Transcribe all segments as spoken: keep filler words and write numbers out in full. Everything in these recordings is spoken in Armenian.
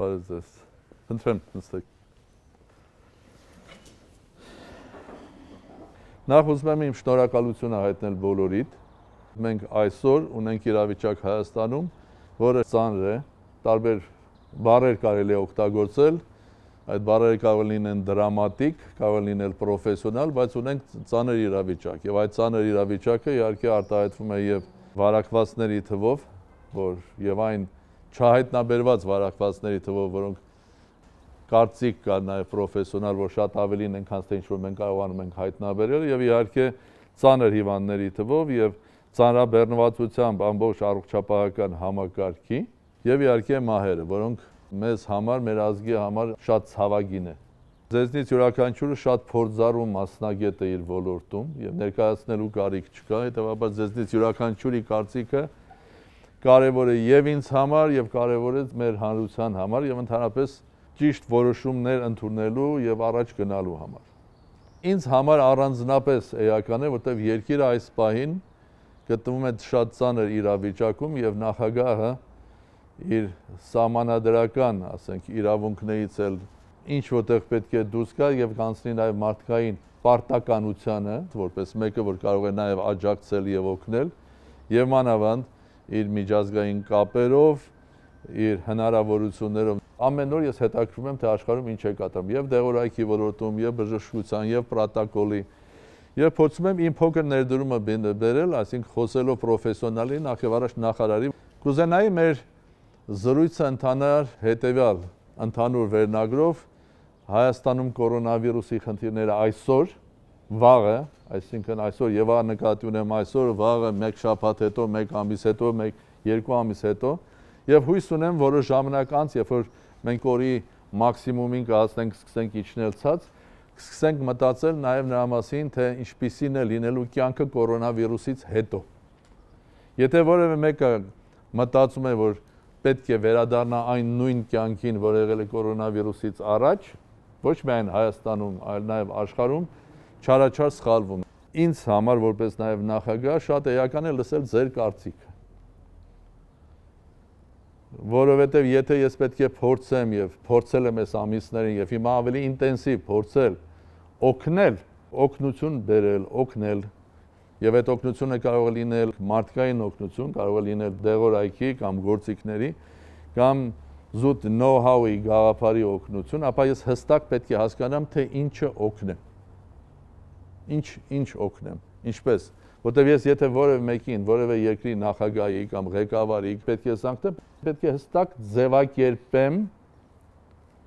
Բարև ձեզ։ Խնդրեմ, նստեք։ Նախ ուզում եմ իմ շնորհակալությունը հայտնել բոլորիդ։ Մենք այսօր ունենք իրավիճակ Հայաստանում, որը ծանր է, տարբեր բառեր կարելի է օգտագործել, այդ բառերը կարող լինեն դրամատիկ, կարող լինել պրոֆեսիոնալ, բայց ունենք ծանր իրավիճակ, եւ այդ ծանր իրավիճակը իհարկե արտահայտվում է եւ վարակվածների թվով, որ եւ այն չհայտնաբերված վարակվածների թվով, որոնք կարծիք կա նաեւ պրոֆեսիոնալ, որ շատ ավելին են, քան թե ինչ որ մենք կարողանում ենք հայտնաբերել, եւ իհարկե ծանր հիվանդների թվով եւ ծանրաբեռնվածությամբ ամբողջ առողջապահական համակարգի եւ իհարկե մահերը, որոնք մեզ համար, մեր ազգի համար շատ ցավագին է։ Ձեզնից յուրաքանչյուրը շատ փորձառու մասնագետ է իր ոլորտում եւ ներկայացնելու կարիք չկա, հետեւաբար ձեզնից յուրաքանչյուրի կարծիքը կարեւոր է եւ ինձ համար եւ կարեւոր է մեր հանրության համար եւ ընդհանրապես ճիշտ որոշումներ ընդունելու եւ առաջ գնալու համար։ Ինձ համար առանձնապես էական է, որտեղ երկիրը այս պահին գտնվում է շատ ծանր իրավիճակում եւ նախագահը իր սահմանադրական, ասենք, իրավունքներից էլ ինչ որտեղ պետք է դուրս գա եւ կանցնի նաեւ մարդկային պարտականությանը, որպես մեկը, որ կարող է նաեւ աջակցել եւ օգնել, եւ մանավանդ իր միջազգային կապերով, իր հնարավորություններով։ Ամեն օր ես հետաքրքրում եմ, թե աշխարհում ինչ է կատարվում եւ դեղորայքի ոլորտում, եւ բժշկության, եւ պրոտոկոլի, եւ փորձում եմ իմ փոքր ներդրումը բերել, այսինքն խոսելով պրոֆեսիոնալի, նախ եւ առաջ նախարարի, կուզենայի մեր զրույցը ընթանար հետևյալ ընդհանուր վերնագրով Հայաստանում կորոնավիրուսի խնդիրները այսօր, վաղը, այսինքն այսօր եւ նկատի ունեմ այսօր, վաղը, մեկ շաբաթ հետո, մեկ ամիս հետո, մեկ երկու ամիս հետո, եւ հույս ունեմ, որոշ ժամանակ անց, երբ որ մենք օրի մաքսիմումին կհասնենք, սկսենք իջնել ցած, սկսենք մտածել նաեւ նրա մասին, թե ինչպիսին է լինելու կյանքը կորոնավիրուսից հետո։ Եթե որևէ մեկը մտածում է, որ պետք է վերադառնա այն նույն կյանքին, որ եղել է կորոնավիրուսից առաջ, ոչ միայն Հայաստանում, այլ նաև աշխարհում, չարաչար սխալվում։ Ինձ համար որպես նաև նախագահ շատ էական է լսել ձեր կարծիքը։ Որովհետև եթե ես պետք է փորձեմ եւ փորձել եմ այս ամիսներին եւ հիմա ավելի ինտենսիվ փորձել օգնել, օգնություն բերել, օգնել Եվ այդ օգնությունը կարող է լինել մարդկային օգնություն, կարող է լինել դեղորայքի կամ գործիքների, կամ զուտ know-how-ի գաղափարի օգնություն, ապա ես հստակ պետք է հասկանամ, թե ինչը օգնեմ։ Ինչ ինչ օգնեմ, ինչպես, որտեղ ես եթե որևէ մեկին, որևէ երկրի նախագահի կամ ղեկավարի պետք է զանգեմ, պետք է հստակ ձևակերպեմ,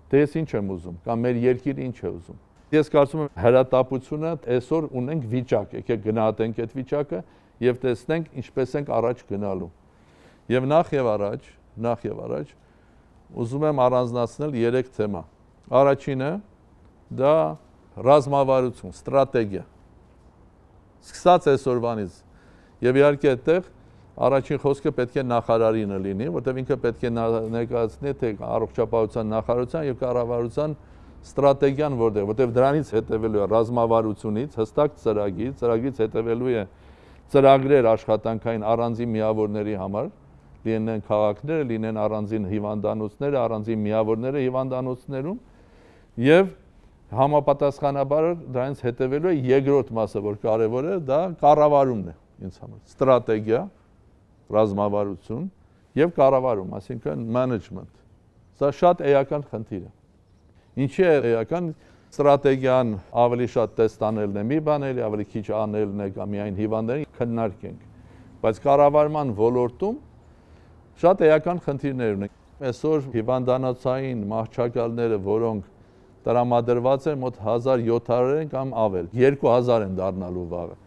թե ես ինչ եմ ուզում, կամ մեր երկիրը ինչ է ուզում։ Ես կարծում եմ հրատապությունը այսօր ունենք վիճակ, եկեք գնահատենք այդ վիճակը եւ տեսնենք ինչպես ենք առաջ գնալու։ Եվ նախ եւ առաջ, նախ եւ առաջ ուզում եմ առանձնացնել երեք թեմա։ Առաջինը դա ռազմավարություն, ստրատեգիա։ Սկսած այսօրվանից եւ իհարկե այդտեղ առաջին խոսքը պետք է նախարարինը լինի, որտեղ ինքը պետք է ներկայացնի թե առողջապահության նախարարության եւ կառավարության ստրատեգիան որտեղ, որտեղ դրանից հետևելու է ռազմավարությունից, հստակ ծրագիր, ծրագրից հետևելու է ծրագրեր աշխատանքային առանձին միավորների համար, լինեն քաղաքները, լինեն առանձին հիվանդանոցները, առանձին միավորները հիվանդանոցներում եւ համապատասխանաբար դրանից հետևելու է երկրորդ մասը, որ կարեւոր է, դա կառավարումն է ինձ համար։ Ստրատեգիա, ռազմավարություն եւ կառավարում, այսինքն management։ Սա շատ էական խնդիր է։ Ինչի է էական ստրատեգիան ավելի շատ տեստ անելն է մի բան, էլի ավելի քիչ անելն է կամ միայն հիվանդներին քննարկենք։ Բայց կառավարման ոլորտում շատ էական խնդիրներ ունենք։ Այսօր հիվանդանոցային մահճակալները, որոնք տրամադրված են մոտ հազար յոթ հարյուր կամ ավել, երկու հազար են դառնալու վաղը։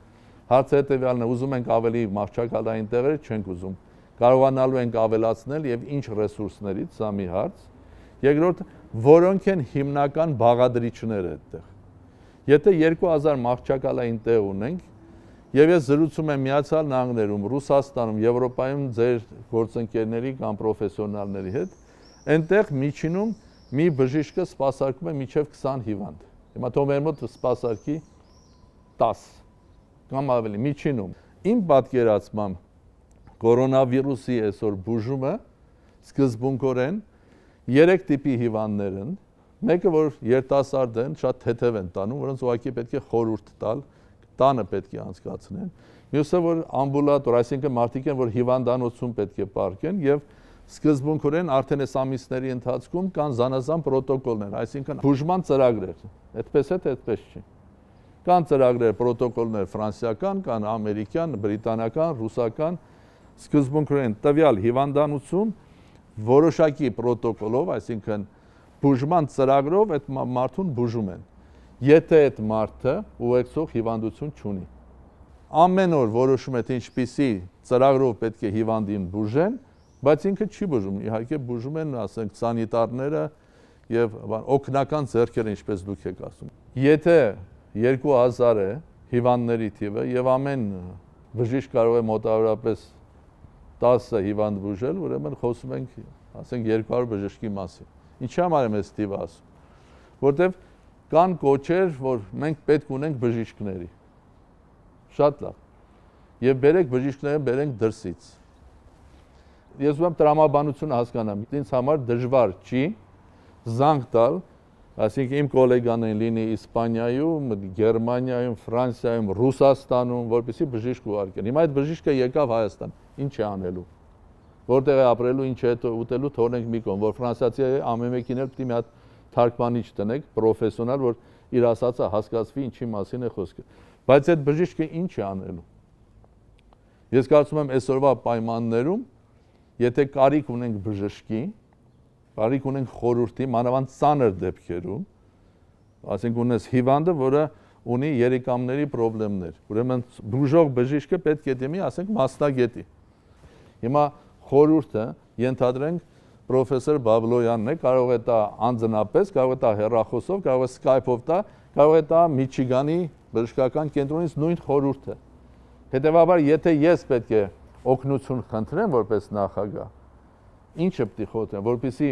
Հարցը հետևյալն է, ուզում ենք ավելի մահճակալային տեղեր, չենք ուզում։ Կարողանալու ենք ավելացնել եւ ինչ ռեսուրսներից, սա մի հարց։ Երկրորդ, որոնք են հիմնական բաղադրիչները այդտեղ։ Եթե երկու հազար մահճակալային տեղ ունենք, եւ ես զրուցում եմ Միացյալ Նահանգներում, Ռուսաստանում, Եվրոպայում ձեր գործընկերների կամ պրոֆեսիոնալների հետ, այնտեղ միջինում մի բժիշկը սպասարկում է մինչև քսան հիվանդ։ Հիմա թող մեր մոտ սպասարկի տաս կամ ավելի միջինում։ Իմ պատկերացմամբ կորոնավիրուսի այսօր բուժումը սկզբունքորեն երեք տիպի հիվանդներ են, մեկը որ երիտասարդ են, շատ թեթև են տանում, որոնց ուղղակի պետք է խորհուրդ տալ, տանը պետք է անցկացնեն։ Մյուսը որ ամբուլատոր, այսինքն մարդիկ են, որ հիվանդանոցում պետք է պարկեն եւ սկզբունքորեն արդեն այս ամիսների ընթացքում կան զանազան պրոտոկոլներ, այսինքն բուժման ծրագրեր, այդպես է թե այդպես չի։ Կան ծրագրեր, պրոտոկոլներ ֆրանսիական, կան ամերիկյան, բրիտանական, ռուսական, սկզբունքորեն տվյալ հիվանդանոցում որոշակի պրոտոկոլով, այսինքն բուժման ծրագրով այդ մարդուն բուժում են։ Եթե այդ մարդը ուղեկցող հիվանդություն չունի։ Ամեն օր որոշում է թե ինչպիսի ծրագրով պետք է հիվանդին բուժեն, բայց ինքը չի բուժում, իհարկե բուժում են, ասենք, սանիտարները եւ օգնական ձեռքերը, ինչպես դուք եք ասում։ Եթե երկու հազար է հիվանդների թիվը եւ ամեն բժիշկ կարող է մոտավորապես տասը հիվանդ բուժել, ուրեմն խոսում ենք, ասենք, երկու հարյուր բժշկի մասին։ Ինչի համար եմ այս թիվը ասում, որտեվ կան կոչեր, որ մենք պետք ունենք բժիշկների։ Շատ լավ։ Եվ բերեք բժիշկները, բերենք դրսից։ Ես ուզում եմ տրամաբանությունը հասկանամ, ինձ համար դժվար չի զանգ տալ, այսինքն իմ գոլեգաներին լինի Իսպանիայում, Գերմանիայում, Ֆրանսիայում, Ռուսաստանում, որպեսզի բժիշկ ուղարկեն։ Հիմա այդ բժիշկը եկավ Հայաստան, ինչ է անելու։ Որտեղ է ապրելու, ինչ է ուտելու, թողնենք մի կողմ, որ ֆրանսիացի ամեն մեկին էլ պիտի մի հատ թարգմանիչ տնեք, պրոֆեսիոնալ, որ իր ասածը հասկացվի, ինչի մասին է խոսքը։ Բայց այդ բժիշկը ինչ է անելու։ Ես կարծում եմ այսօրվա պայմաններում, եթե կարիք ունենք բժշկի, կարիք ունենք խորհրդի, մանավանդ ծանր դեպքերում, ասենք ունես հիվանդը, որը ունի երիկամների խնդիրներ, ուրեմն բուժող բժիշկը պետք է դիմի, ասենք, մասնագետի։ Հիմա խորհուրդը ենթադրենք պրոֆեսոր Բաբլոյանն է, կարող է տա անձնապես, կարող է տա հեռախոսով, կարող է Skype-ով տա, կարող է տա Միչիգանի բժշկական կենտրոնից նույն խորհուրդը։ Հետևաբար, եթե ես պետք է օգնություն խնդրեմ որպես նախագահ, ինչը պիտի խոհեմ, որպեսզի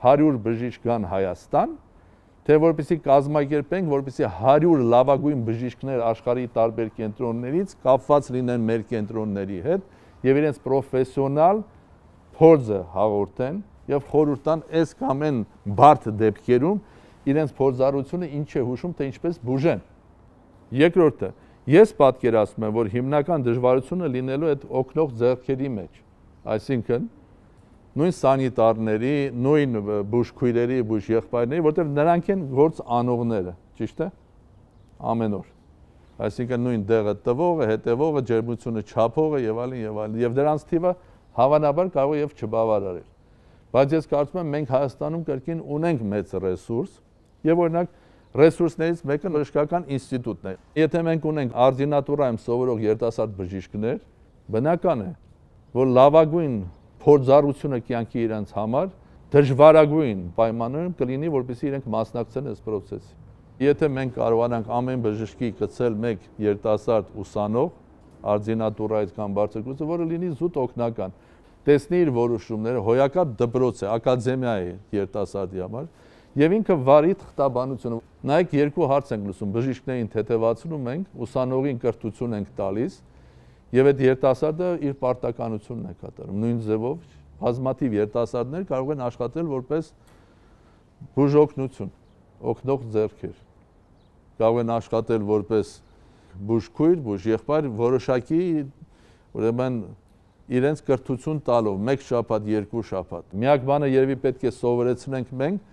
հարյուր բժիշկ գան Հայաստան, թե որպեսզի կազմակերպենք, որպեսզի հարյուր լավագույն բժիշկներ աշխարհի տարբեր կենտրոններից կապված լինեն մեր կենտրոնների հետ եւ իրենց պրոֆեսիոնալ փորձը հաղորդեն եւ խորհուրդ տան այս կամ այն բարդ դեպքերում իրենց փորձառությունը ինչ է հուշում, թե ինչպես բուժեն։ Երկրորդը, ես պատկերացնում եմ, որ հիմնական դժվարությունը լինելու այդ օգնող ձեռքերի մեջ, այսինքն նույն սանիտարների, նույն բուժքույրերի, բուժեղբայրների, որտեղ նրանք են գործ անողները, ճիշտ է, ամեն օր։ Այսինքն նույն դեղը տվողը, հետևողը, ջերմությունը չափողը եւ այլն եւ այլն, եւ դրանց թիվը հավանաբար կարող է եւ չբավարարել։ Բայց ես կարծում եմ մենք Հայաստանում կրկին ունենք մեծ ռեսուրս եւ օրինակ ռեսուրսներից մեկը բժշկական ինստիտուտն է։ Եթե մենք ունենք արդինատուրայում սովորող երիտասարդ բժիշկներ, բնական է, որ լավագույն փորձառությունը կյանքի իրենց համար դժվարագույն պայմաններում կլինի, որպեսզի իրենք մասնակցեն այս process-ի։ Եթե մենք կարողանանք ամեն բժշկի գցել մեկ երիտասարդ ուսանող, արդինատուրայից կամ բարձր կուրսը, որը լինի զուտ օգնական, տեսնի իր որոշումները, հոյակապ դպրոց է, ակադեմիա է երիտասարդի համար, եւ ինքը վարի թղթաբանությունը։ Նայեք, երկու հարց ենք լսում, բժիշկներին թեթևացնում ենք, ուսանողին կրթություն ենք տալիս, եւ այդ երիտասարդը իր պարտականությունն է կատարում։ Նույն ձևով բազմաթիվ երիտասարդներ կարող են աշխատել որպես բուժօգնություն, օգնող ձեռքեր։ Կարող են աշխատել որպես բուժքույր, բուժեղբայր, որոշակի ուրեմն իրենց կրթություն տալով մեկ շաբաթ, երկու շաբաթ։ Միակ բանը երևի պետք է սովորեցնենք մենք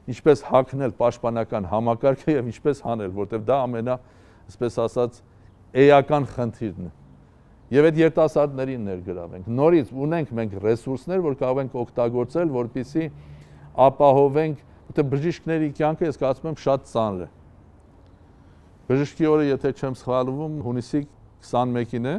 ինչպես հագնել պաշտպանական համակարգը եւ ինչպես հանել, որտեղ դա ամենա, այսպես ասած, էական խնդիրն է։ Եվ այդ երիտասարդներին ներգրավենք։ Նորից ունենք մենք ռեսուրսներ, որ կարող ենք օգտագործել, որպեսզի ապահովենք, որտեղ բժիշկների կյանքը ես կարծում եմ շատ ծանր է։ Բժշկի օրը, եթե չեմ սխալվում, հունիսի քսանմեկին է։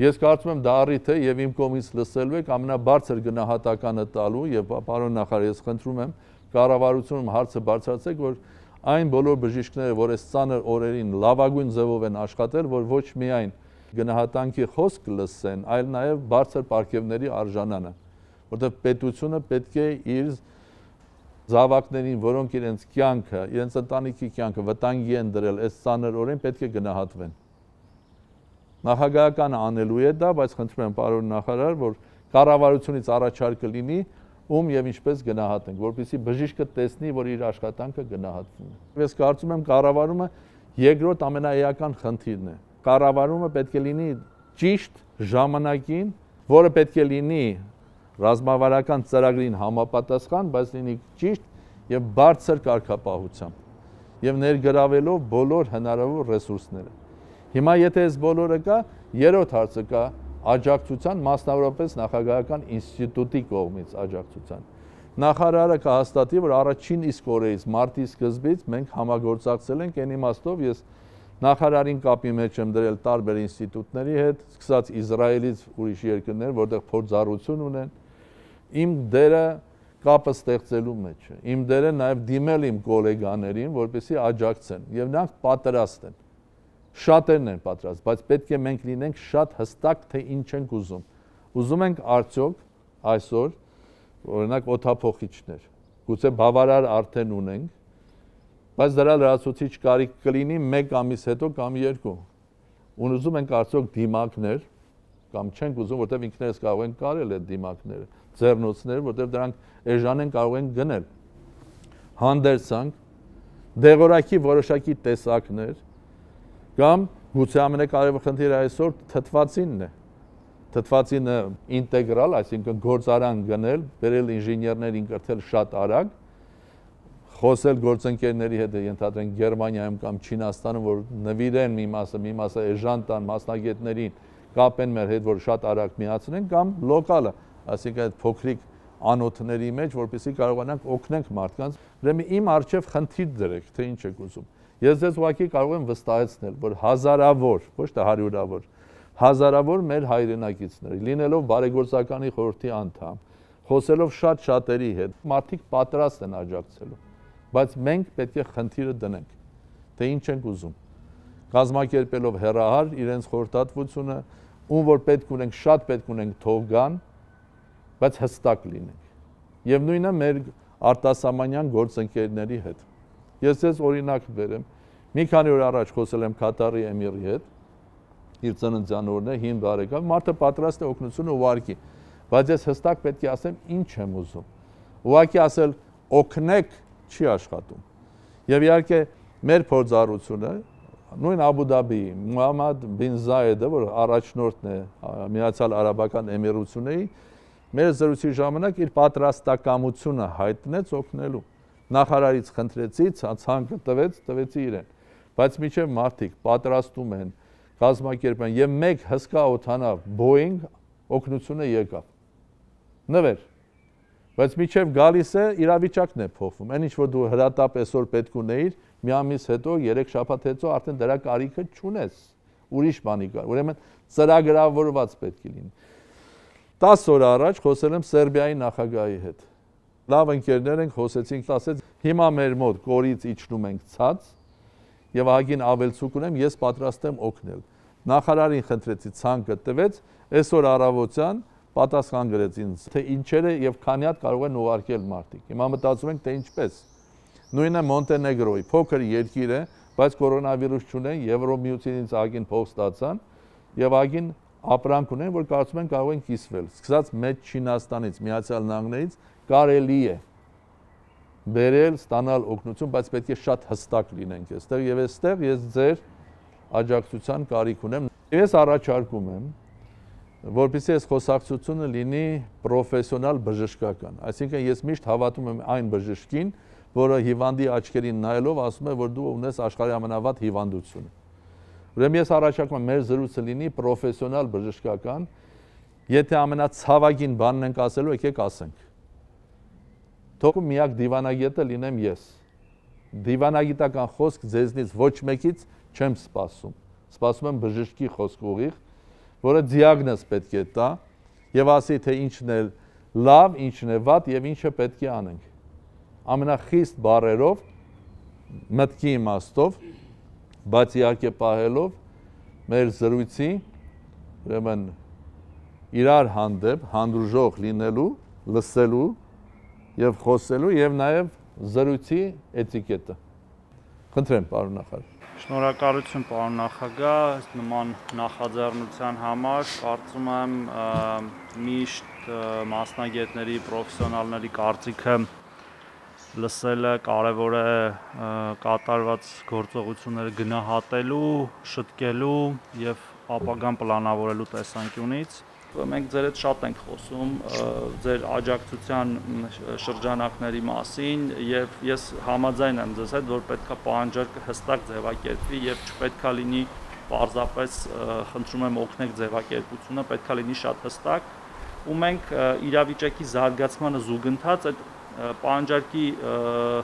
Ես կարծում եմ դա առիթ է եւ իմ կողմից լսելու եք ամենաբարձր գնահատականը տալու եւ պարոն նախարար, ես խնդրում եմ կառավարությունում հարցը բարձրացեք, որ այն բոլոր բժիշկները, որ այս ծանր օրերին լավագույն ձևով են աշխատել, որ ոչ միայն գնահատանքի խոսք լսեն, այլ նաեւ բարձր պարգևների արժանանան, որտեղ պետությունը պետք է իր զավակներին, որոնք իրենց կյանքը, իրենց ընտանիքի կյանքը վտանգի են դրել այս ծանր օրերին, պետք է գնահատվեն։ Նախագահականը անելու է դա, բայց խնդրում եմ պարոն նախարար, որ կառավարությունից առաջարկը լինի, ում եւ ինչպես գնահատենք, որպեսզի բժիշկը տեսնի, որ իր աշխատանքը գնահատվում է։ Ես կարծում եմ կառավարումը երկրորդ ամենաեական խնդիրն է։ Կառավարումը պետք է լինի ճիշտ ժամանակին, որը պետք է լինի ռազմավարական ծրագրին համապատասխան, բայց լինի ճիշտ եւ բարձր կարգապահությամբ եւ ներգրավելով բոլոր հնարավոր ռեսուրսները։ Հիմա եթե այս բոլորը կա, երրորդ հարցը կա աջակցության, մասնավորապես նախագահական ինստիտուտի կողմից աջակցության։ Նախարարը կհաստատի, որ առաջին իսկ օրերից մարտի սկզբից մենք համագործակցել ենք այն իմաստով, ես նախարարին կապի մեջ եմ դրել տարբեր ինստիտուտների հետ, սկսած Իսրայելից ուրիշ երկրներ, որտեղ փորձառություն ունեն, իմ դերը կապը ստեղծելու մեջ է։ Իմ դերը նաև դիմել իմ գոլեգաներին, որպեսզի աջակցեն, եւ նրանք պատրաստ են։ Շատերն են պատրաստ, բայց պետք է մենք լինենք շատ հստակ, թե ինչ ենք ուզում։ Ուզում ենք արդյոք այսօր, օրինակ օդափոխիչներ, գուցե բավարար արդեն ունենք, բայց դրա լրացուցիչ կարիք կլինի մեկ ամիս հետո կամ երկու։ Ուզում ենք արդյոք դիմակներ, կամ չենք ուզում, որտեղ ինքներս կարող ենք կարել այդ դիմակները, ձեռնոցները, որտեղ դրանք էժան են կարող են գնել։ Հանդերձանք, դեղորայքի որոշակի տեսակներ, կամ գուցե ամենակարևոր խնդիրը այսօր թթվածինն է։ Թթվածինը ինտեգրալ, այսինքն գործարան գնել, բերել ինժեներներին կրթել շատ արագ, խոսել գործընկերների հետ, ենթադրենք Գերմանիայում կամ Չինաստանում, որ նվիրեն մի մասը, մի մասը էժան տան մասնագետներին, կապեն մեր հետ, որ շատ արագ միացնեն, կամ լոկալը, այսինքն այդ փոքրիկ անոթների մեջ, որպեսզի կարողանանք օգնենք մարդկանց։ Ուրեմն իմ առջև խնդիր դրեք, թե ինչ եք ուզում։ Ես ձեզ ուղղակի կարող եմ վստահեցնել, որ հազարավոր, ոչ թե հարյուրավոր, հազարավոր մեր հայրենակիցներ, լինելով բարեգործականի խորհրդի անդամ, խոսելով շատ շատերի հետ, մարդիկ պատրաստ են աջակցելու, բայց մենք պետք է խնդիրը դնենք, թե ինչ ենք ուզում, կազմակերպելով հեռահար իրենց խորհրդատվությունը, ում որ պետք ունենք, շատ պետք ունենք թող գան, բայց հստակ լինենք։ Եվ նույնը մեր արտասահմանյան գործընկերների հետ։ Ես ձեզ օրինակ բերեմ, մի քանի օր առաջ խոսել եմ Կատարի էմիրի հետ, իր ծննդյան օրն է, հին բարեկամ, մարդը պատրաստ է օգնությունը ուղարկի, բայց ես հստակ պետք է ասեմ ինչ եմ ուզում։ Ուղղակի ասել օգնեք չի աշխատում։ Եվ իհարկե մեր փորձառությունը, նույն Աբու Դաբիի Մուհամմադ բին Զայեդը, որ առաջնորդն է Միացյալ Արաբական Էմիրությունների, մեր զրույցի ժամանակ իր պատրաստակամությունը հայտնեց օգնելու։ Նախարարից խնդրեցի, ցանկը տվեց, տվեցի իրեն։ Բայց մինչև մարդիկ պատրաստում են, կազմակերպում են եւ մեկ հսկա օդանավ Boeing օգնությունը եկավ։ Նվեր։ Բայց մինչև գալիս է իրավիճակն է փոխվում։ Այն ինչ որ դու հրատապ այսօր պետք ունեիր, մի ամիս հետո, երեք շաբաթ հետո արդեն դրա կարիքը չունես։ Ուրիշ բանի կար։ Ուրեմն ծրագրավորված պետք է լինի։ տասը օր առաջ խոսել եմ Սերբիայի նախագահի հետ։ Լավ ընկերներ ենք, խոսեցինք, ասեց, հիմա մեր մոտ կորից իջնում ենք ցած եւ ահագին ավելցուկ ունեմ, ես պատրաստ եմ օգնել։ Նախարարին խնդրեցի, ցանկը տվեց, այսօր առավոտյան պատասխան գրեց ինձ, թե ինչերը եւ քանի հատ կարող են ուղարկել մարդիկ։ Հիմա մտածում ենք, թե ինչպես։ Նույնը Մոնտենեգրոյի փոքր երկիր է, բայց կորոնավիրուս չունեն, Եվրոմիությունից ահագին փող ստացան եւ ահագին ապրանք ունեն, որ կարծում են կարող են կիսվել։ Սկսած մեծ Չինաստանից, Միացյալ Նահանգներից կարելի է բերել, ստանալ օգնություն, բայց պետք է շատ հստակ լինենք այստեղ եւ այստեղ ես ձեր աջակցության կարիք ունեմ։ Ես առաջարկում եմ, որպեսզի այս խոսակցությունը լինի պրոֆեսիոնալ բժշկական։ Այսինքն ես միշտ հավատում եմ այն բժշկին, որը հիվանդի աչքերին նայելով ասում է, որ դու ունես աշխարհի ամենավատ հիվանդությունը։ Ուրեմն ես առաջարկում եմ մեր զրույցը լինի պրոֆեսիոնալ բժշկական, եթե ամենացավագին բանն ենք ասելու, եկեք ասենք։ Թող միակ դիվանագետը լինեմ ես։ Դիվանագիտական խոսք ձեզնից ոչ մեկից չեմ սպասում։ Սպասում եմ բժշկի խոսք ուղիղ, որը դիագնոզ պետք է տա եւ ասի, թե ինչն է լավ, ինչն է վատ եւ ինչը պետք է անենք։ Ամենախիստ բառերով, մտքի իմաստով, բայց իհարկե պահելով մեր զրույցի, ուրեմն իրար հանդեպ հանդուրժող լինելու, լսելու եւ խոսելու եւ նաեւ զրույցի էտիկետը։ Խնդրեմ, պարոն նախարար։ Շնորհակալություն պարոն նախագահ, նման նախաձեռնության համար, կարծում եմ միշտ մասնագետների, պրոֆեսիոնալների կարծիքը լսելը կարևոր է կատարված գործողությունները գնահատելու, շտկելու եւ ապագան պլանավորելու տեսանկյունից։ Մենք ձեր հետ շատ ենք խոսում ձեր աջակցության շրջանակների մասին եւ ես համաձայն եմ ձեզ հետ, որ պետքա պահանջարկը հստակ ձևակերպվի եւ չպետքա լինի պարզապես խնդրում եմ օգնեք ձևակերպությունը, պետքա լինի շատ հստակ ու մենք իրավիճակի զարգացմանը զուգընթաց այդ պահանջարկի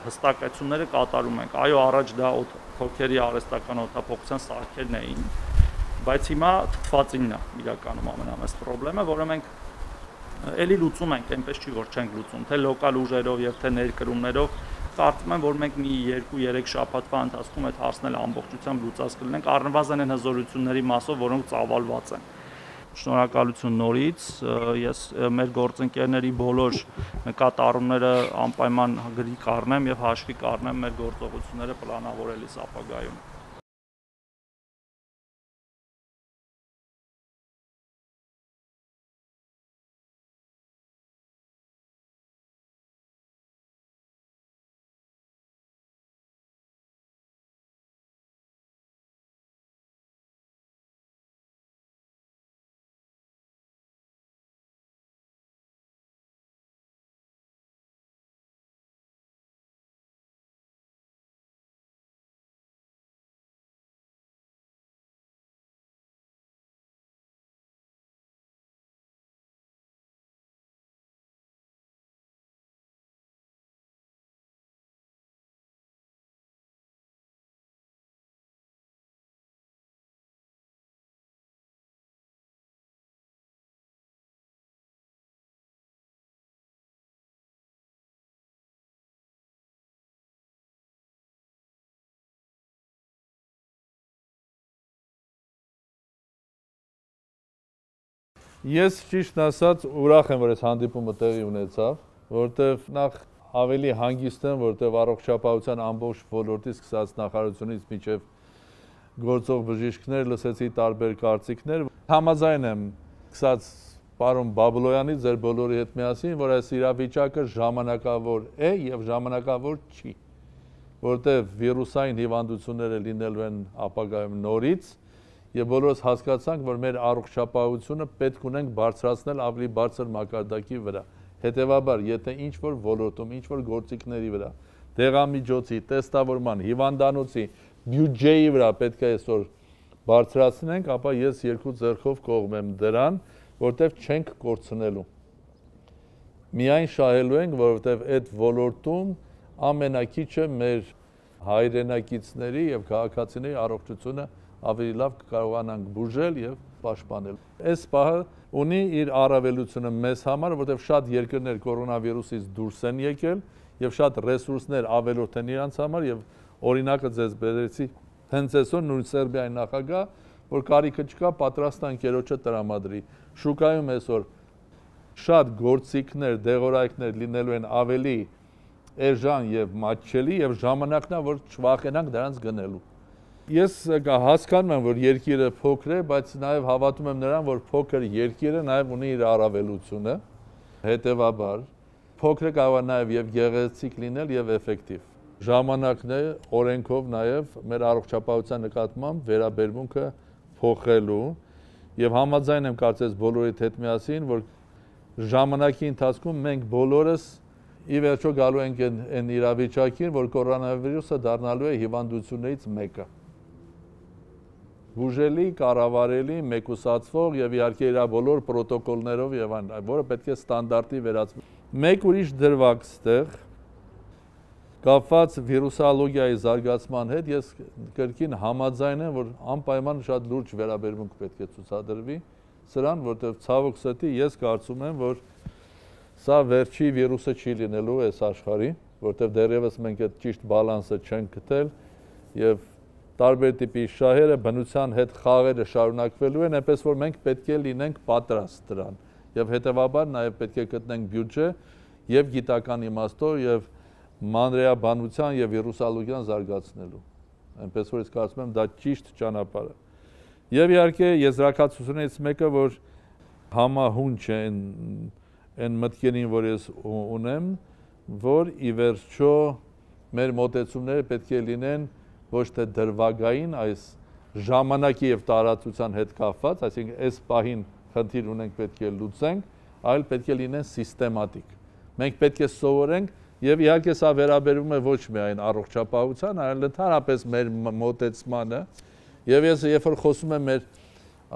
հստակեցումները կատարում ենք։ Այո, առաջ դա թոքերի արհեստական օդափոխության սարքերն էին, բայց հիմա թթվածինն է իրականում ամենամեծ խնդրը, որը մենք էլի լուծում ենք, այնպես չի որ չենք լուծում, թե լոկալ ուժերով եւ թե ներկրումներով, կարծում եմ, որ մենք մի երկու երեք շաբաթվա ընթացքում այդ հարցն ամբողջությամբ լուծած կլինենք, առնվազն այն հզորությունների մասով, որոնք ծավալված են։ Շնորհակալություն նորից, ես մեր գործընկերների բոլոր նկատառումները անպայման գրի կառնեմ եւ հաշվի կառնեմ մեր գործողությունները պլանավորելիս ապագայում։ Ես ճիշտ ասած ուրախ եմ, որ այս հանդիպումը տեղի ունեցավ, որտեղ նախ ավելի հանգիստ եմ, որտեղ առողջապահության ամբողջ ոլորտից սկսած նախարարությունից մինչև գործող բժիշկներ լսեցի տարբեր կարծիքներ։ Համաձայն եմ սկսած պարոն Բաբլոյանի ձեր բոլորի հետ միասին, որ այս իրավիճակը ժամանակավոր է եւ ժամանակավոր չի, որտեղ վիրուսային հիվանդությունները լինելու են ապագայում նորից եւ բոլորս հասկացանք, որ մեր առողջապահությունը պետք ունենք բարձրացնել ավելի բարձր մակարդակի վրա։ Հետևաբար, եթե ինչ-որ ոլորտում, ինչ-որ գործիքների վրա, դեղամիջոցի, տեստավորման, հիվանդանոցի, բյուջեի վրա պետք է այսօր բարձրացնենք, ապա ես երկու ձեռքով կողմ եմ դրան, որտեղ չենք կորցնելու։ Միայն շահելու ենք, որովհետև այդ ոլորտում ամենակիչը մեր հայրենակիցների եւ քաղաքացիների առողջությունը ավելի լավ կկարողանանք բուժել եւ պաշտպանել։ Այս պահը ունի իր առավելությունը մեզ համար, որտեղ շատ երկրներ կորոնավիրուսից դուրս են եկել եւ շատ ռեսուրսներ ավելորդ են իրանց համար եւ օրինակը ձեզ բերեցի հենց այսօր նույն Սերբիայի նախագահ, որ կարիքը չկա պատրաստ անկերոջը տրամադրի։ Շուկայում այսօր շատ գործիքներ, դեղորայքներ լինելու են ավելի էժան եւ մատչելի եւ ժամանակն է, որ չվախենանք դրանց գնելու։ Ես հասկանում եմ, որ երկիրը փոքր է, բայց նաև հավատում եմ նրան, որ փոքր երկիրը նաև ունի իր առավելությունը, հետևաբար փոքրը կարող է նաև եւ գեղեցիկ լինել եւ էֆեկտիվ։ Ժամանակն է օրենքով նաև մեր առողջապահության նկատմամբ վերաբերմունքը փոխելու եւ համաձայն եմ կարծես բոլորիդ հետ միասին, որ ժամանակի ընթացքում մենք բոլորս ի վերջո գալու ենք այն իրավիճակին, որ կորոնավիրուսը դառնալու է հիվանդություններից մեկը։ Բուժելի, կառավարելի, մեկուսացվող եւ իհարկե իր բոլոր պրոտոկոլներով եւ այն, որը պետք է ստանդարտի վերածվի։ Մեկ ուրիշ դրվագ ստեղ կապված վիրուսոլոգիայի զարգացման հետ ես կրկին համաձայն եմ, որ անպայման շատ լուրջ վերաբերմունք պետք է ցուցադրվի սրան, որտեղ ցավոք սրտի ես կարծում եմ, որ սա վերջի վիրուսը չի լինելու այս աշխարհի, որտեղ դեռևս մենք այդ ճիշտ բալանսը չենք գտել եւ տարբեր տիպի շահերը, բնության հետ խաղերը շարունակվելու են, այնպես որ մենք պետք է լինենք պատրաստ դրան եւ հետեւաբար նաեւ պետք է գտնենք բյուջե եւ գիտական իմաստով եւ մանրէաբանության եւ վիրուսոլոգիան զարգացնելու։ այնպես որ ես կարծում եմ դա ճիշտ ճանապարհ է։ Եվ իհարկե եզրակացությունից մեկը, որ համահունչ է այն այն մտքերին, որ ես ունեմ, որ ի վերջո մեր մոտեցումները պետք է լինեն ոչ թե դրվագային, այս ժամանակի եւ տարածության հետ կապված, այսինքն այս պահին խնդիր ունենք, պետք է լուծենք, այլ պետք է լինեն սիստեմատիկ։ Մենք պետք է սովորենք, եւ իհարկե սա վերաբերում է ոչ միայն առողջապահության, այլ ընդհանրապես մեր մոտեցմանը։ Եվ ես երբ որ խոսում եմ մեր,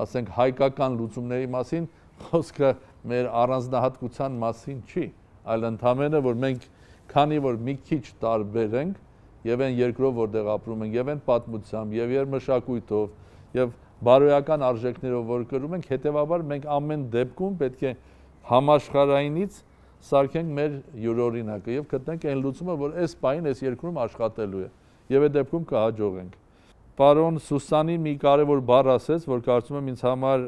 ասենք, հայկական լուծումների մասին, խոսքը մեր առանձնահատկության մասին չի, այլ ընդհանրապես որ մենք քանի որ մի քիչ տարբեր ենք, եւ այն երկրով որտեղ ապրում ենք, եւ այն պատմությամբ, եւ իր մշակույթով, եւ բարոյական արժեքներով որ կրում ենք, հետեւաբար մենք ամեն դեպքում պետք է համաշխարհայինից սարքենք մեր յուրօրինակը եւ գտնենք այն լուծումը, որ այս պահին այս երկրում աշխատելու է եւ այդ դեպքում կհաջողենք։ Պարոն Սուսանին մի կարևոր բառ ասեց, որ կարծում եմ ինձ համար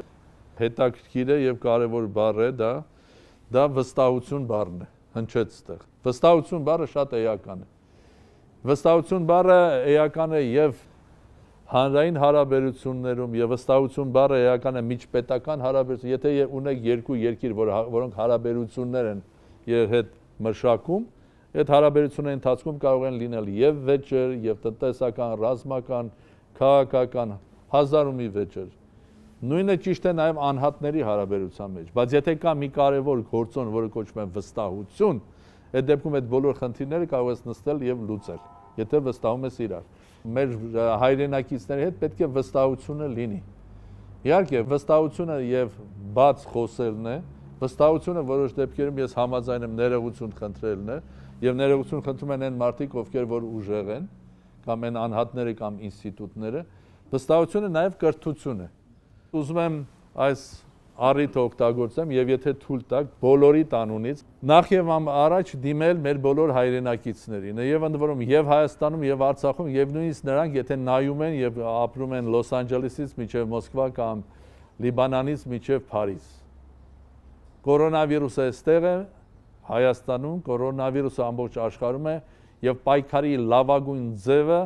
հետաքրքիր է եւ կարևոր բառ է դա, դա վստահություն բառն է, հնչեց այդտեղ։ Վստահություն բառը շատ էական է։ Վստահություն բառը էական է եւ հանրային հարաբերություններում եւ վստահություն բառը էական է միջպետական հարաբերություն, եթե ունեք երկու երկիր, որ, որոնք հարաբերություններ են իր հետ մշակում, այդ հարաբերությունների ընթացքում կարող են լինել եւ վեճեր, եւ տնտեսական, ռազմական, քաղաքական, հազար ու մի վեճեր։ Նույնը ճիշտ է նաեւ անհատների հարաբերության մեջ, բայց եթե կա մի կարևոր գործոն, որը կոչվում է վստահություն, այդ դեպքում այդ բոլոր խնդիրները կարող ես նստել եւ լուծել, եթե վստահում ես իրար։ Մեր հայրենակիցների հետ պետք է վստահությունը լինի։ Իհարկե, վստահությունը եւ բաց խոսելն է, վստահությունը որոշ դեպքերում ես համաձայն եմ ներողություն խնդրելն է, եւ ներողություն խնդրում են այն մարդիկ, ովքեր որ ուժեղ են, կամ այն անհատները կամ ինստիտուտները, վստահությունը նաեւ կրթություն է։ Ուզում եմ այս առիթը օգտագործեմ եւ եթե թույլ տաք բոլորի տանունից նախ եւ առաջ դիմել մեր բոլոր հայրենակիցներին եւ ընդ որում եւ Հայաստանում եւ Արցախում եւ նույնիսկ նրանք եթե նայում են եւ ապրում են Լոս Անջելեսից մինչեւ Մոսկվա կամ Լիբանանից մինչեւ Փարիզ։ Կորոնավիրուսը այստեղ է Հայաստանում, կորոնավիրուսը ամբողջ աշխարհում է եւ պայքարի լավագույն ձևը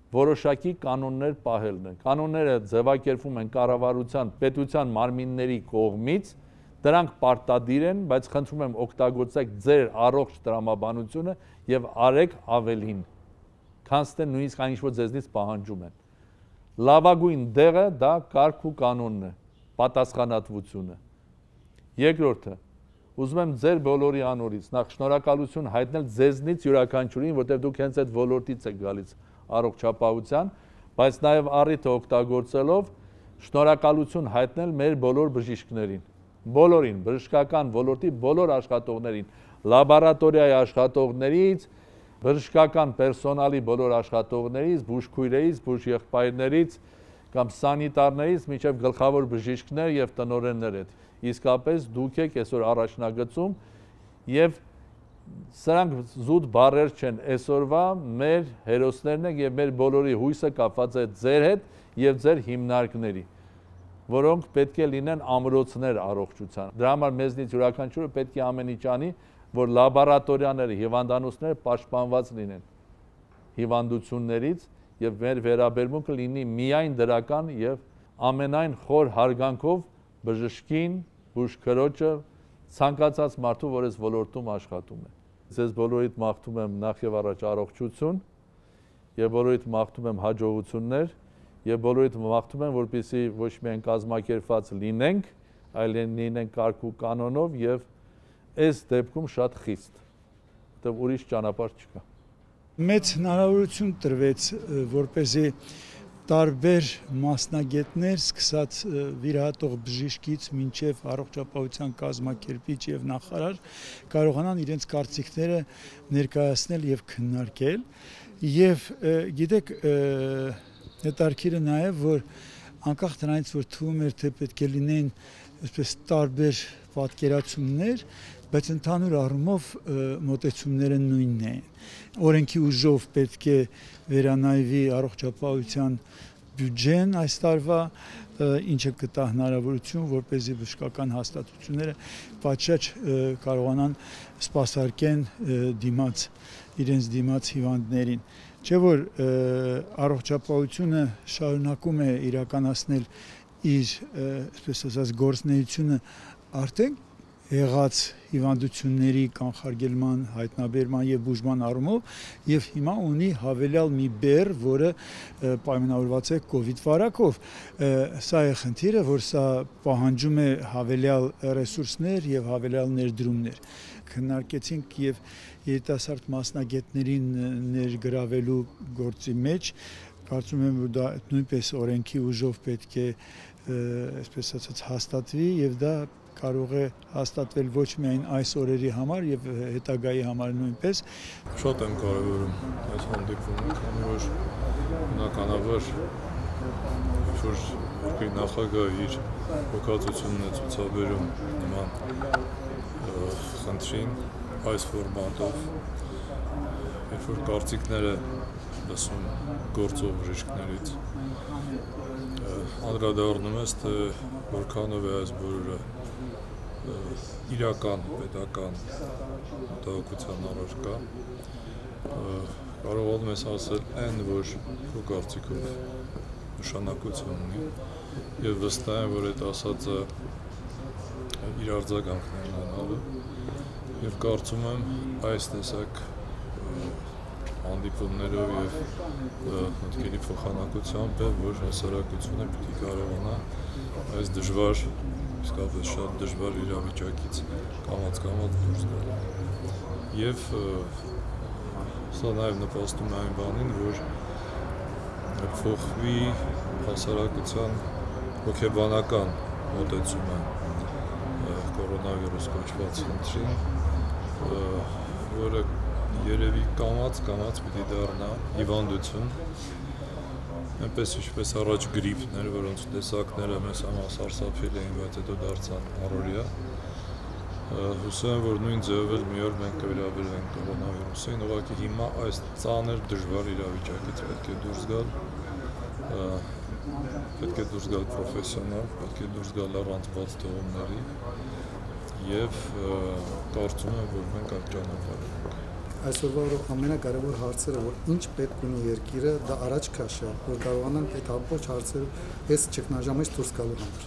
որոշակի կանոններ պահելն է։ Կանոնները ձևակերպվում են կառավարության, պետության մարմինների կողմից, դրանք պարտադիր են, բայց խնդրում եմ օգտագործեք ձեր առողջ տրամաբանությունը եւ արեք ավելին, քան թե նույնիսկ այն ինչ որ ձեզնից պահանջում են։ Լավագույն դեղը դա կարգ ու կանոնն է, պատասխանատվությունը։ Երկրորդը, ուզում եմ ձեր բոլորի անորից նախ շնորհակալություն հայտնել ձեզնից յուրաքանչյուրին, որտեղ դուք հենց այդ ոլորտից եք գալիս առողջապահության, բայց նաև առիթը օգտագործելով շնորհակալություն հայտնել մեր բոլոր բժիշկներին, բոլորին, բժշկական ոլորտի բոլոր աշխատողներին, լաբորատորիայի աշխատողներից, բժշկական պերսոնալի բոլոր աշխատողներից, բուժքույրերից, բուժեղբայրներից կամ սանիտարներից, մինչև գլխավոր բժիշկներ եւ տնօրեններ հետ։ Իսկապես դուք եք այսօր առաջնագծում եւ սրանք զուտ բառեր չեն, այսօրվա մեր հերոսներն են եւ մեր բոլորի հույսը կապված է ձեր հետ եւ ձեր հիմնարկների, որոնք պետք է լինեն ամրոցներ առողջության։ Դրա համար մեզնից յուրաքանչյուրը պետք է ամեն ինչ անի, որ լաբորատորիաները, հիվանդանոցները պաշտպանված լինեն հիվանդություններից եւ մեր վերաբերմունքը լինի միայն դրական եւ ամենայն խոր հարգանքով բժշկին, բուժքրոջը, ցանկացած մարդու, որ այս ոլորտում աշխատում է։ Ձեզ բոլորիդ մաղթում եմ նախ եւ առաջ առողջություն եւ բոլորիդ մաղթում եմ հաջողություններ եւ բոլորիդ մաղթում եմ, որպեսզի ոչ միայն կազմակերպված լինենք, այլ լինենք կարգ ու կանոնով եւ այս դեպքում շատ խիստ, որտեղ ուրիշ ճանապարհ չկա։ Մեծ հնարավորություն տրվեց, որպեսզի տարբեր մասնագետներ, սկսած վիրահատող բժիշկից մինչև առողջապահության կազմակերպիչ եւ նախարար կարողանան իրենց կարծիքները ներկայացնել եւ քննարկել եւ գիտեք հետարքիրը նաեւ որ անկախ դրանից որ թվում էր թե պետք է լինեն այսպես տարբեր պատկերացումներ, բայց ընդհանուր առումով մոտեցումները նույնն են։ Օրենքի ուժով պետք է վերանայվի առողջապահության բյուջեն այս տարվա, ինչը կտա հնարավորություն, որպեսզի բժշկական հաստատությունները պատշաճ կարողանան սպասարկեն դիմաց իրենց դիմաց հիվանդներին։ Չէ որ առողջապահությունը շարունակում է իրականացնել իր, այսպես ասած, գործունեությունը արդեն եղած հիվանդությունների կանխարգելման, հայտնաբերման եւ բուժման առումով եւ հիմա ունի հավելյալ մի բեռ, որը պայմանավորված է կոവിഡ് վարակով։ Սա է խնդիրը, որ սա պահանջում է հավելյալ ռեսուրսներ եւ հավելյալ ներդրումներ։ Քննարկեցինք եւ երիտասարդ մասնագետներին ներգրավելու գործի մեջ, կարծում եմ, որ դա նույնպես օրենքի ուժով պետք է, այսպես ասած, հաստատվի եւ դա կարող է հաստատվել ոչ միայն այս օրերի համար եւ հետագայի համար նույնպես։ Շատ եմ կարևորում այս հանդիպումը, քանի որ բնականաբար որ երկրի նախագահը իր հոգացությունն է ցուցաբերում նման խնդրին այս ֆորմատով, երբ որ կարծիքները լսում գործող բժիշկներից, անդրադառնում ես, թե որքանով է այս բոլորը իրական, պետական մտահոգության առարկա, կարողանում ես ասել այն, որ քո կարծիքով նշանակություն ունի եւ վստահ եմ, որ այդ ասածը իր արձագանքն է ունենալու եւ կարծում եմ այս տեսակ հանդիպումներով եւ մտքերի փոխանակությամբ է, որ հասարակությունը պիտի կարողանա այս դժվար, իսկապես շատ դժվար իրավիճակից կամաց-կամաց դուրս գալ։ Եվ սա նաեւ նպաստում է այն բանին, որ փոխվի հասարակության հոգեբանական մոտեցումը կորոնավիրուս կոչված խնդրին, որը երևի կամաց-կամաց պիտի դառնա հիվանդություն, այնպես ինչպես առաջ գրիպներ, որոնց տեսակները մեզ համար սարսափելի էին, բայց հետո դարձան առօրյա։ Հուսում եմ, որ նույն ձևով էլ մի օր մենք կվերաբերվենք կորոնավիրուսին, ուղղակի հիմա այս ծանր դժվար իրավիճակից պետք է դուրս գալ, պետք է դուրս գալ պրոֆեսիոնալ, պետք է դուրս գալ առանց բաց թողումների եւ կարծում եմ, որ մենք այդ ճանապարհով ենք։ Այսօրվա ամենակարևոր հարցերը, որ ինչ պետք ունի երկիրը, դա առաջ քաշը, որ կարողանանք այդ ամբողջ հարցերը այս ճգնաժամից դուրս գալու համար։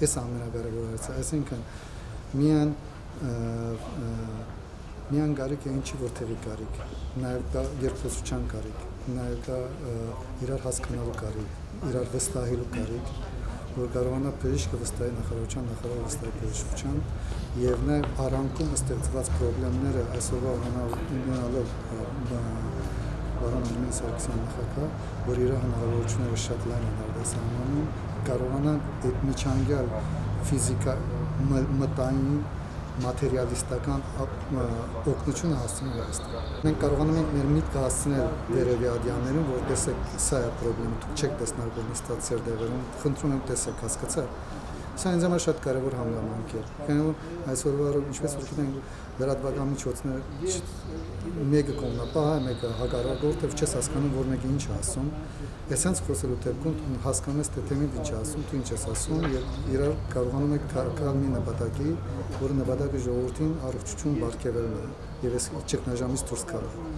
Այս ամենակարևոր հարցը, այսինքն միան միան կարիք է ինչի որտեղի կարիք, նաև կա երկխոսության կարիք, նաև կա իրար հասկանալու կարիք, իրար վստահելու կարիք, որ կարողանա բժիշկը վստահի նախարարության, նախարարը վստահի բժշկության եւ նաեւ առանքում ստեղծված խնդիրները այսօրվա ունենալով բարոն Արմեն Սարգսյան նախագահ, որ իր հնարավորությունները շատ լայն են արտասահմանում, կարողանան այդ միջանկյալ ֆիզիկա մտային մատերիալիստական օգնությունը հասցնել Հայաստան։ Մենք կարողանում ենք մեր միտքը հասցնել վերևյադյաններին, որ տեսեք, սա է խնդրեմ, դուք չեք տեսնել բենիստացիար դեղերում, խնդրում եմ տեսեք, հասկացա։ Սա ինձ համար շատ կարևոր հանգամանք է։ Քանի որ այսօրվա ինչպես որ գիտենք, լրատվական միջոցները մեկը կողմնապահ է, մեկը հակառակորդ է, չես հասկանում, որ մեկը ինչ է ասում։ Էսենց խոսելու դեպքում հասկանում ես, թե թեմին ինչ է ասում, դու ինչ ես ասում եւ իրար կարողանում եք գալ մի նպատակի, որը նպատակը ժողովրդին առողջություն բարգեւելն է եւ այս ճգնաժամից դուրս գալը։